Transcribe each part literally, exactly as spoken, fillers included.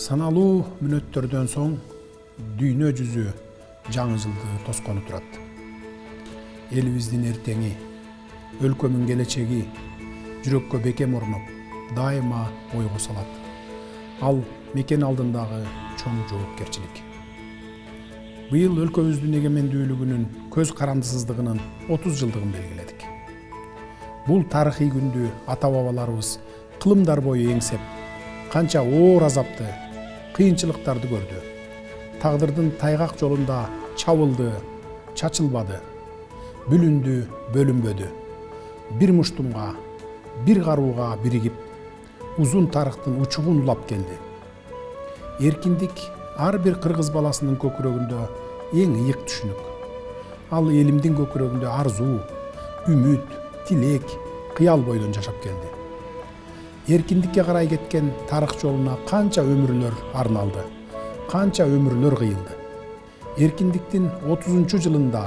Саналуу мүнөттөрдөн соң дүйнө жүзү жаңы жылды тоскону турат. Элибиздин эртеңи, өлкөмүн келечеги жүрөккө бекем орноп, дайыма ойго салат. Ал мекен алдындагы чоң жоопкерчилик. Быйыл өлкөбүздүн эгемендүүлүгүнүн көз карандысыздыгынын отуз жылдыгын белгиледик. Бул тарыхый күндү ата-бабаларыбыз кылымдар бою эңсеп, канча оор азапты, кыйынчылыктарды көрдү. Тагдырдын тайгак жолунда чабылды, чачылбады, бүлүндү, бөлүнбөдү. Бир муштумга, бир карууга биригип, узун тарыхтын учугун улап келди. Эркиндик ар бир кыргыз баласынын көкүрөгүндө эң ыйык түшүнүк. Ал элимдин көкүрөгүндө арзуу, үмүт, тилек, кыял бойдон жашап келди. Эркиндикке карай кеткен тарых жолуна канча өмүрлөр арналды, канча өмүрлөр кыйылды. Эркиндиктин отузунчу жылында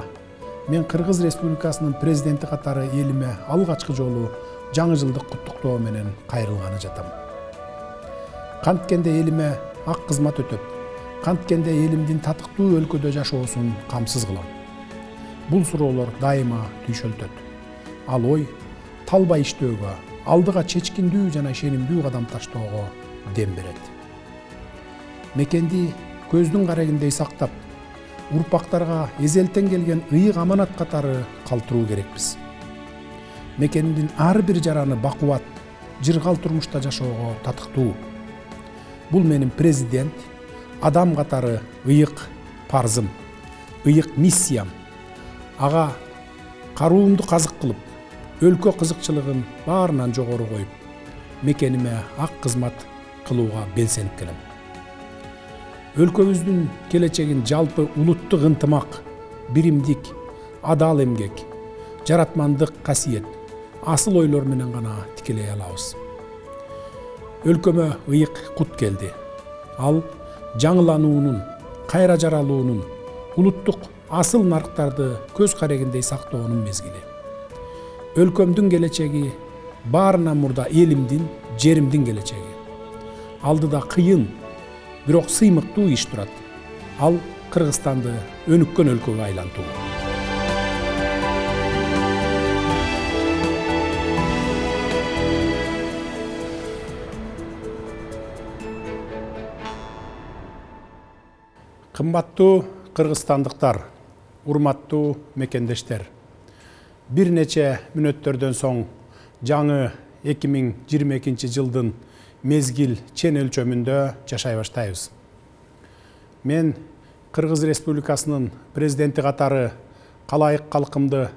мен Кыргыз Республикасынын президенти катары элиме алгачкы жолу жаңы жылдык куттуктоо менен кайрылганы жатам. Канткенде элиме ак кызмат өтөп, канткенде элимдин татыктуу өлкөдө жашоосун камсыз кылам. Бул суроолор дайыма түйшөлтөт. Ал ой талбай иштөөгө, алдыга чечкиндүү жана ишенимдүү кадам таштоого дем берет. Мекенди көздүн карегиндей сактап, урпактарга эзелтен келген ыйык аманат катары калтыруу керекпиз. Мекендин ар бир жараны бакубат, жыргал турмушта жашоого татыктуу. Бул менин президент, адам катары ыйык парзым, ыйык миссиям. Ага каруумду казык кылып, өлкө кызыкчылыгын баарынан жогору коюп, мекениме ак кызмат кылууга белсенип келем. Өлкөбүздүн келечегин жалпы улуттук ынтымак, биримдик, адал эмгек, жаратмандык касиет, асыл ойлор менен гана тикелей алабыз. Өлкөмө ыйык кут келди. Ал жаңылануунун, кайра жаралуунун, улуттук асыл нарктарды көз карегиндей сактоонун мезгили. Өлкөмдүн келечеги баарынан мурда элимдин, жеримдин келечеги. Алдыда кыйын, бирок сыймыктуу иш турат. Ал Кыргызстанды өнүккөн өлкөгө айлантуу. Кымбаттуу кыргызстандыктар, урматтуу мекендештер. Бир нече мүнөттөрдөн соң жаңы эки миң жыйырма экинчи жылдын мезгил чен өлчөмүндө жашай баштайбыз. Мен Кыргыз Республикасынын президенти катары калайык калкымды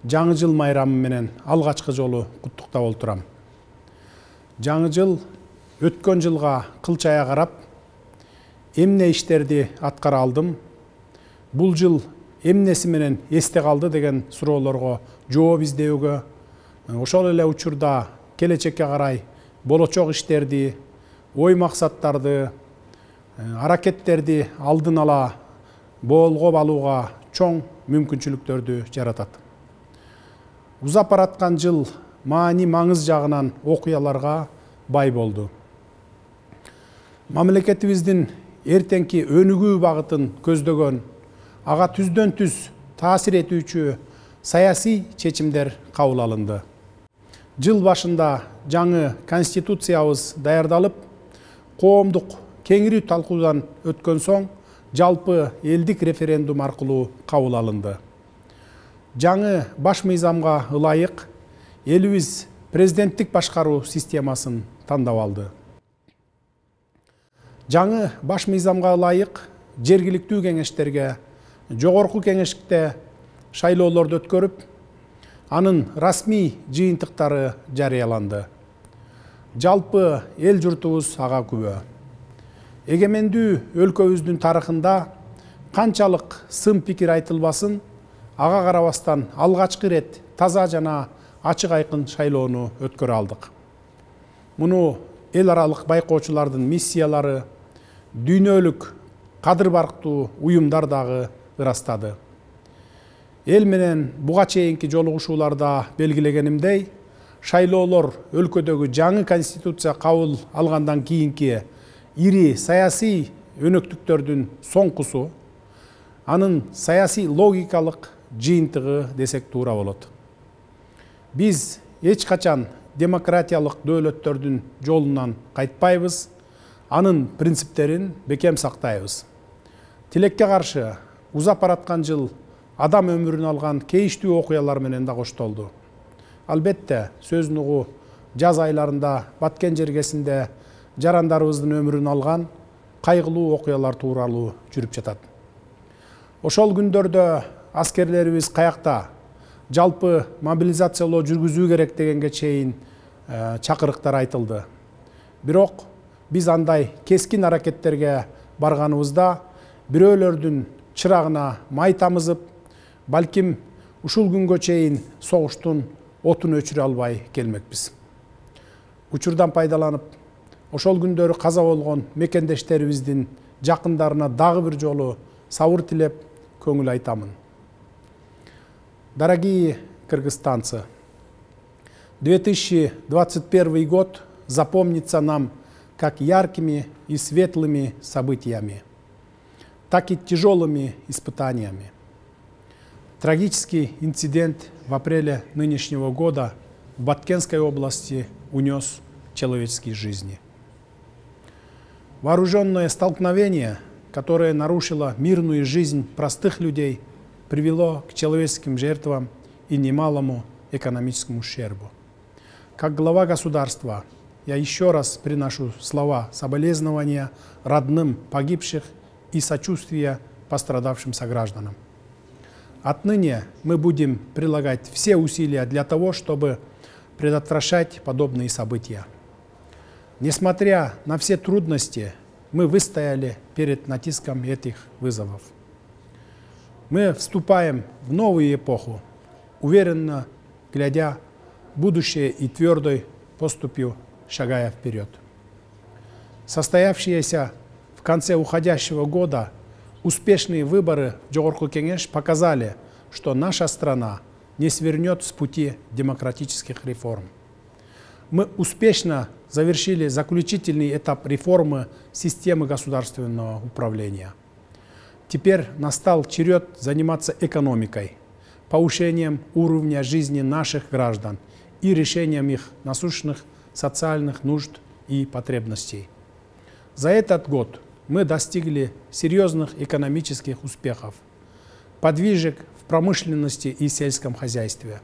жаңы жыл майрамы менен алгачкы жолу куттуктап олтурам. Жаңы жыл өткөн жылга кылчая карап, эмне иштерди аткара алдым, бул жыл эмнеси менен эсте калды деген суроолорго жооп издөөгө, ошол эле учурда келечекке карай болочок иштерди, ой максаттарды, аракеттерди алдын ала боолгоп алууга чоң мүмкүнчүлүктөрдү жаратат. Узап бараткан жыл маани маңыз жагынан окуяларга бай болду. Мамлекетибиздин эртеңки өнүгүү багытын көздөгөн, ага түздөн түз таасир этүүчү саясий чечимдер кабыл алынды. Жыл башында жаңы конституциябыз даярдалып, коомдук кеңири талкуудан өткөн соң жалпы элдик референдум аркылуу кабыл алынды. Жаңы баш мыйзамга ылайык элибиз президенттик башкаруу системасын тандап алды. Жаңы баш мыйзамга ылайык жергиликтүү кеңештерге, жогорку кеңеште шайлоолорду өткөрүп, анын расмий жыйынтыктары жарыяланды. Жалпы эл журтубуз ага күбө. Эгемендүү өлкөбүздүн тарыхында канчалык сын пикир айтылбасын, ага карабастан алгачкы рет таза жана ачык айкын шайлоону өткөрө алдык. Муну эл аралык байкоочулардын миссиялары, дүйнөлүк кадыр барктуу уюмдар дагы ырастады. Эл менен буга чейинки жолугушууларда белгилегенимдей, шайлоолор өлкөдөгү жаңы конституция кабыл алгандан кийинки ири саясий өнөктүктөрдүн соңкусу, анын саясий логикалык жыйынтыгы десек туура болот. Биз эч качан демократиялык дөөлөттөрдүн жолунан кайтпайбыз, анын принциптерин бекем сактайбыз. Тилекке каршы узап бараткан жыл адам өмүрүн алган кейиштүү окуялар менен да коштолду. Албетте, сөз нугу жаз айларында Баткен жергесинде жарандарыбыздын өмүрүн алган кайгылуу окуялар тууралуу жүрүп жатат. Ошол күндөрдө аскерлерибиз каякта жалпы мобилизациялоо жүргүзүү керек дегенге чейин чакырыктар айтылды. Бирок биз андай кескин аракеттерге барганыбызда бирөөлөрдүн чырагына май тамызып, балким ушул күнгө чейин согуштун отун өчүрө албай келмекпиз. Учурдан пайдаланып, ошол күндөрү каза болгон мекендештерибиздин жакындарына дагы бир жолу сабыр тилеп көңүл айтамын. Дорогие кыргызстанцы, две тысячи двадцать первый год запомнится нам как яркими и светлыми событиями, так и тяжелыми испытаниями. Трагический инцидент в апреле нынешнего года в Баткенской области унес человеческие жизни. Вооруженное столкновение, которое нарушило мирную жизнь простых людей, привело к человеческим жертвам и немалому экономическому ущербу. Как глава государства я еще раз приношу слова соболезнования родным погибших и сочувствия пострадавшим согражданам. Отныне мы будем прилагать все усилия для того, чтобы предотвращать подобные события. Несмотря на все трудности, мы выстояли перед натиском этих вызовов. Мы вступаем в новую эпоху, уверенно глядя в будущее и твердой поступью шагая вперед. Состоявшиеся в конце уходящего года успешные выборы в Жогорку Кеңеш показали, что наша страна не свернет с пути демократических реформ. Мы успешно завершили заключительный этап реформы системы государственного управления. Теперь настал черед заниматься экономикой, повышением уровня жизни наших граждан и решением их насущных социальных нужд и потребностей. За этот год мы достигли серьезных экономических успехов, подвижек в промышленности и сельском хозяйстве.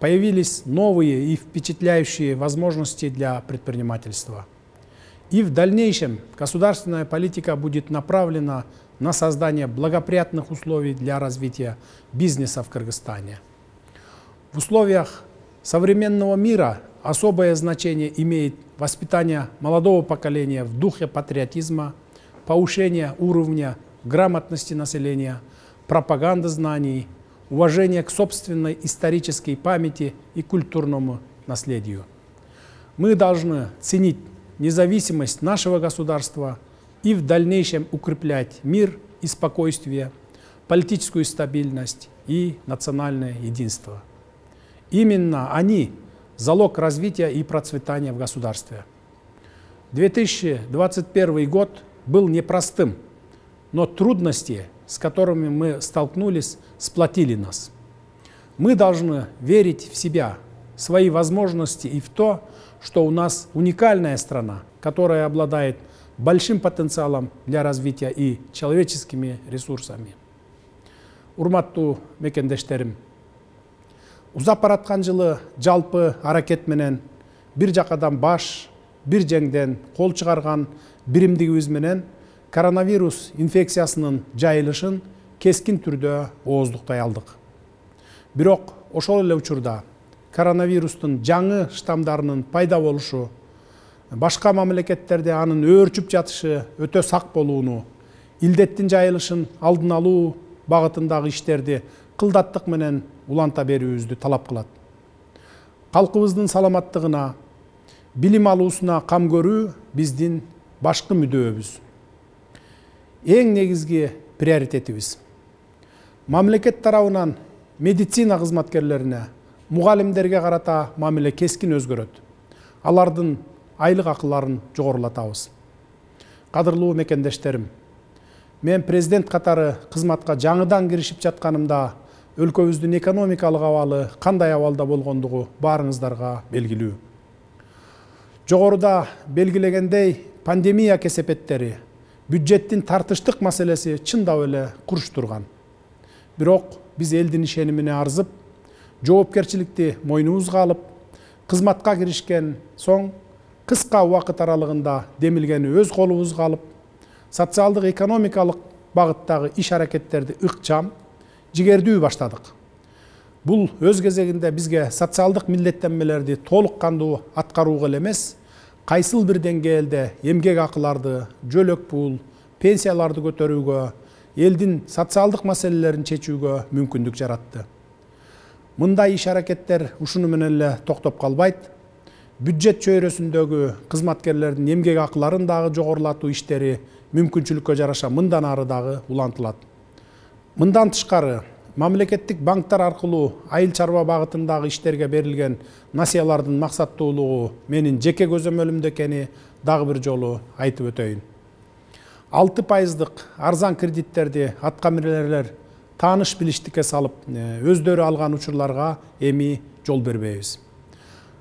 Появились новые и впечатляющие возможности для предпринимательства. И в дальнейшем государственная политика будет направлена на создание благоприятных условий для развития бизнеса в Кыргызстане. В условиях современного мира особое значение имеет воспитание молодого поколения в духе патриотизма, повышение уровня грамотности населения, пропаганда знаний, уважение к собственной исторической памяти и культурному наследию. Мы должны ценить независимость нашего государства и в дальнейшем укреплять мир и спокойствие, политическую стабильность и национальное единство. Именно они – залог развития и процветания в государстве. две тысячи двадцать первый год был непростым, но трудности, с которыми мы столкнулись, сплотили нас. Мы должны верить в себя, в свои возможности и в то, что у нас уникальная страна, которая обладает большим потенциалом для развития и человеческими ресурсами. Урматтуу мекендештерим, узап бараткан жылы жалпы аракет менен бир жакадан баш, бир жеңден кол чыгарган биримдигибиз менен коронавирус инфекциясынын жайылышын кескин түрдө ооздуктай алдык. Бирок ошол эле учурда коронавирустун жаңы штамдарынын пайда болушу, башка мамлекеттерде анын өөрчүп жатышы өтө сак болууну, илдеттин жайылышын алдын алуу багытындагы иштерди кылдаттык менен уланта берүүбүздү талап кылат. Калкыбыздын саламаттыгына, билим алуусуна кам көрүү биздин башкы мүдөөбүз. Эң негизги приоритетибиз. Мамлекет тарабынан медицина кызматкерлерине, мугалимдерге карата мамиле кескин өзгөрөт. Алардын айлык акыларын жогорулатабыз. кадырлуу мекендештерим, мен президент катары кызматка жаңыдан киришип жатканымда өлкөбүздүн экономикалык абалы кандай абалда болгондугу баарыңыздарга белгилүү. Жогоруда белгилегендей, пандемия кесепеттери, бюджеттин тартыштык маселеси чындап эле курч турган. Бирок биз элдин ишенимине арзып, жоопкерчиликти мойнубузга алып, кызматка киришкен соң кыска убакыт аралыгында демилгени өз колубузга алып, социалдык экономикалык багыттагы иш аракеттерди ыкчам, жигердүү баштадык. Бул өз кезегинде бизге социалдык милдеттенмелерди толук кандуу аткарууга эле эмес, кайсыл бир деңгээлде эмгек акыларды, жөлөк пул, пенсияларды көтөрүүгө, элдин социалдык маселелерин чечүүгө мүмкүндүк жаратты. Мындай иш аракеттер ушуну менен эле токтоп калбайт. Бюджет чөйрөсүндөгү кызматкерлердин эмгек акыларын дагы жогорулатуу иштери мүмкүнчүлүккө жараша мындан ары дагы улантылат. Мындан тышкары, мамлекеттик банктар аркылуу айыл чарба багытындагы иштерге берилген насыялардын максаттуулугу менин жеке көзөмөлүмдө экени дагы бир жолу айтып өтөйүн. алты пайыздык арзан кредиттерди аткаминерлер тааныш билиштикке салып, өздөрү алган учурларга эми жол бербейбиз.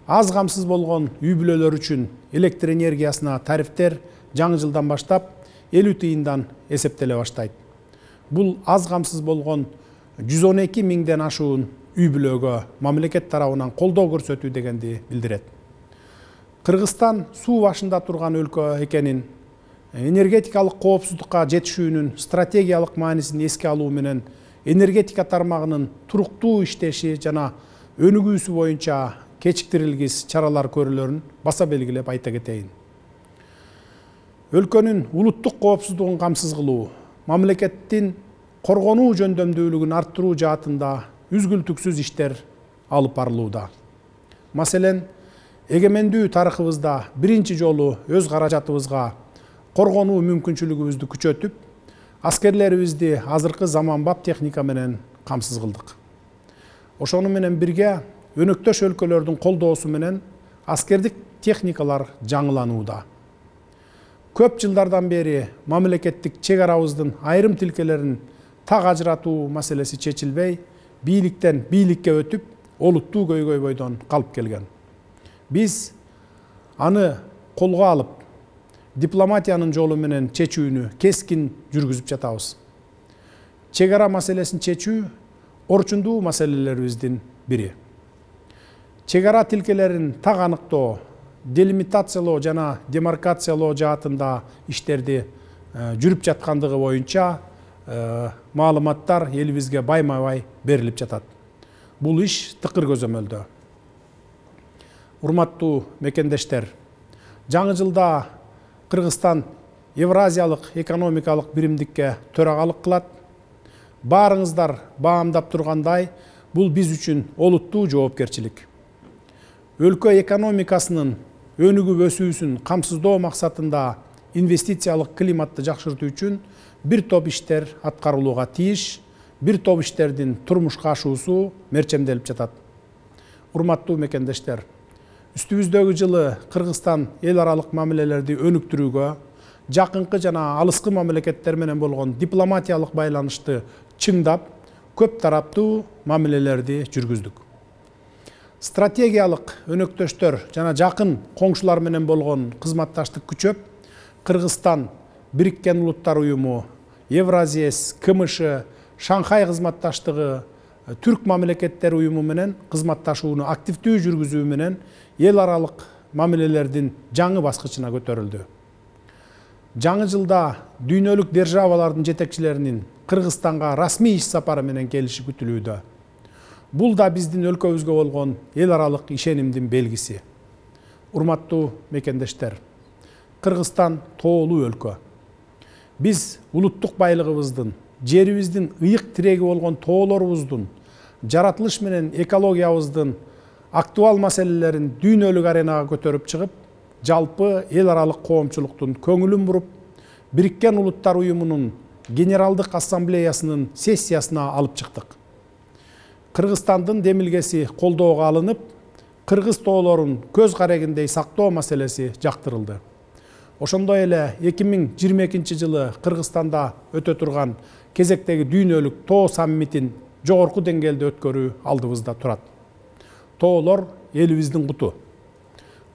Аз камсыз болгон үй бүлөлөр үчүн электр энергиясына тарифтер жаңы жылдан баштап элүү тыйындан эсептеле баштайт. Бул аз камсыз болгон жүз он эки миңден ашуун үй бүлөгө мамлекет тарабынан колдоо көрсөтүү дегенди билдирет. Кыргызстан суу башында турган өлкө экенин, энергетикалык коопсуздукка жетишүүнүн стратегиялык маанисин эске алуу менен энергетика тармагынын туруктуу иштеши жана өнүгүүсү боюнча кечиктирилгис чаралар көрүүлөрүн баса белгилеп айта кетейин. Өлкөнүн улуттук коопсуздугун камсыз кылуу, мамлекеттин коргонуу жөндөмдүүлүгүн арттыруу жаатында үзгүлтүксүз иштер алып барылууда. Маселен, эгемендүү тарыхыбызда биринчи жолу өз каражатыбызга коргонуу мүмкүнчүлүгүбүздү күчөтүп, аскерлерибизди азыркы заманбап техника менен камсыз кылдык. Ошону менен бирге өнөктөш өлкөлөрдүн колдоосу менен аскердик техникалар жаңыланууда. Көп жылдардан бери мамлекеттик чек арабыздын айрым тилкелерин так ажыратуу маселеси чечилбей, бийликтен бийликке өтүп, олуттуу көйгөй бойдон калып келген. Биз аны колго алып, дипломатиянын жолу менен чечүүнү кескин жүргүзүп жатабыз. Чек ара маселесин чечүү орчундуу маселелерибиздин бири. Чек ара тилкелерин так аныктоо, делимитациялоо жана демаркациялоо жаатында иштерди жүрүп жаткандыгы боюнча маалыматтар элибизге байма-бай берилип жатат. Бул иш тыкыр көзөмөлдө. Урматтуу мекендештер, жаңы жылда Кыргызстан Евразиялык экономикалык биримдикке төрагалык кылат. Баарыңыздар баамдап тургандай, бул биз үчүн олуттуу жоопкерчилик. Өлкө экономикасынын өнүгүп өсүүсүн камсыздоо максатында инвестициялык климатты жакшыртуу үчүн бир топ иштер аткарылууга тийиш, бир топ иштердин турмушка ашуусу мерчемделип жатат. Урматтуу мекендештер, үстүбүздөгү жылы Кыргызстан эл аралык мамилелерди өнүктүрүүгө, жакынкы жана алыскы мамлекеттер менен болгон дипломатиялык байланышты чыңдап, көп тараптуу мамилелерди жүргүздүк. Стратегиялык өнөктөштөр жана жакын коңшулар менен болгон кызматташтык күчөп, Кыргызстан Бириккен Улуттар уюму, Евразиес, КМШ, Шанхай кызматташтыгы, Түрк мамлекеттер уюму менен кызматташууну активдүү жүргүзүү менен эл аралык мамилелердин жаңы баскычына көтөрүлдү. Жаңы жылда дүйнөлүк державалардын жетекчилеринин Кыргызстанга расмий иш сапары менен келиши күтүлүүдө. Бул да биздин өлкөбүзгө болгон эл аралык ишенимдин белгиси. Урматтуу мекендештер, Кыргызстан тоолуу өлкө. Биз улуттук байлыгыбыздын, жерибиздин ыйык тиреги болгон тоолорубуздун, жаратылыш менен экологиябыздын актуал маселелерин дүйнөлүк аренага көтөрүп чыгып, жалпы эл аралык коомчулуктун көңүлүн буруп, Бириккен Улуттар уюмунун Генералдык ассамблеясынын сессиясына алып чыктык. Кыргызстандын демилгеси колдоого алынып, кыргыз тоолорун көз карегиндей сактоо маселеси жактырылды. ошондой эле эки миң жыйырма экинчи жылы Кыргызстанда өтө турган кезектеги дүйнөлүк тоо саммитин жогорку деңгээлде өткөрүү алдыбызда турат. Тоолор элибиздин куту.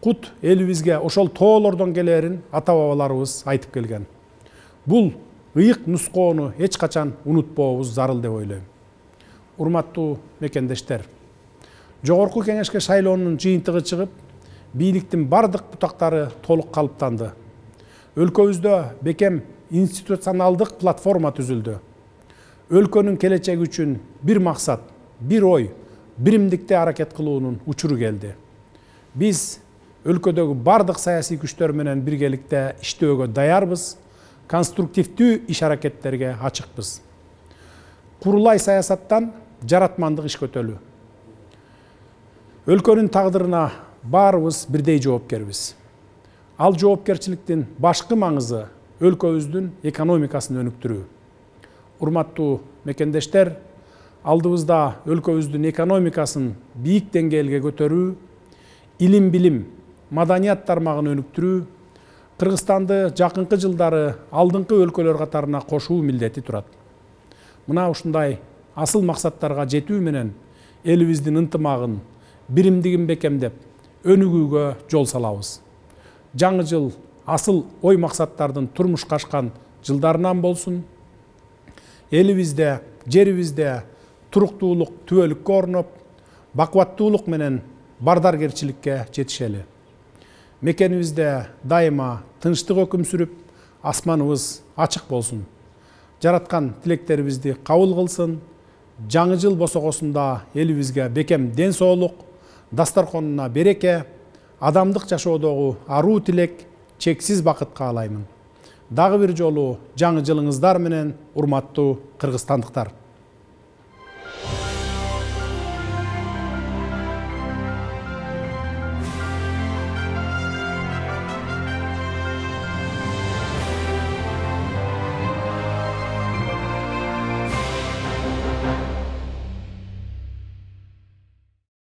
Кут элибизге ошол тоолордон келерин ата бабаларыбыз айтып келген. Бул ыйык нускоону эч качан унутпообуз зарыл деп ойлойм. Урматтуу мекендештер, жогорку кеңешке шайлоонун жыйынтыгы чыгып, бийликтин бардык бутактары толук калыптанды. Өлкөбүздө бекем институционалдык платформа түзүлдү. Өлкөнүн келечеги үчүн бир максат, бир ой, биримдикте аракет кылуунун учуру келди. Биз өлкөдөгү бардык саясий күчтөр менен биргеликте иштөөгө даярбыз, конструктивдүү иш аракеттерге ачыкпыз. Курулай саясаттан жаратмандык иш көтөлүү. Өлкөнүн тагдырына баарыбыз бирдей жоопкербиз. Ал жоопкерчиликтин башкы маңызы өлкөбүздүн экономикасын өнүктүрүү. Урматтуу мекендештер, алдыбызда өлкөбүздүн экономикасын бийик деңгээлге көтөрүү, илим билим, маданият тармагын өнүктүрүү, Кыргызстанды жакынкы жылдары алдыңкы өлкөлөр катарына кошуу милдети турат. Мына ушундай асыл максаттарга жетүү менен элибиздин ынтымагын, биримдигин бекемдеп, өнүгүүгө жол салабыз. Жаңы жыл асыл ой максаттардын турмушка ашкан жылдарынан болсун. Элибизде, жерибизде туруктуулук, түбөлүккө орноп, бакубаттуулук менен бардаргерчиликке жетишели. Мекенибизде дайыма тынчтык өкүм сүрүп, асманыбыз ачык болсун. Жараткан тилектерибизди кабыл кылсын. Жаңы жыл босогосунда элибизге бекем ден соолук, дастарконуна береке, адамдык жашоодогу аруу тилек, чексиз бакыт каалаймын. Дагы бир жолу жаңы жылыңыздар менен, урматтуу кыргызстандыктар.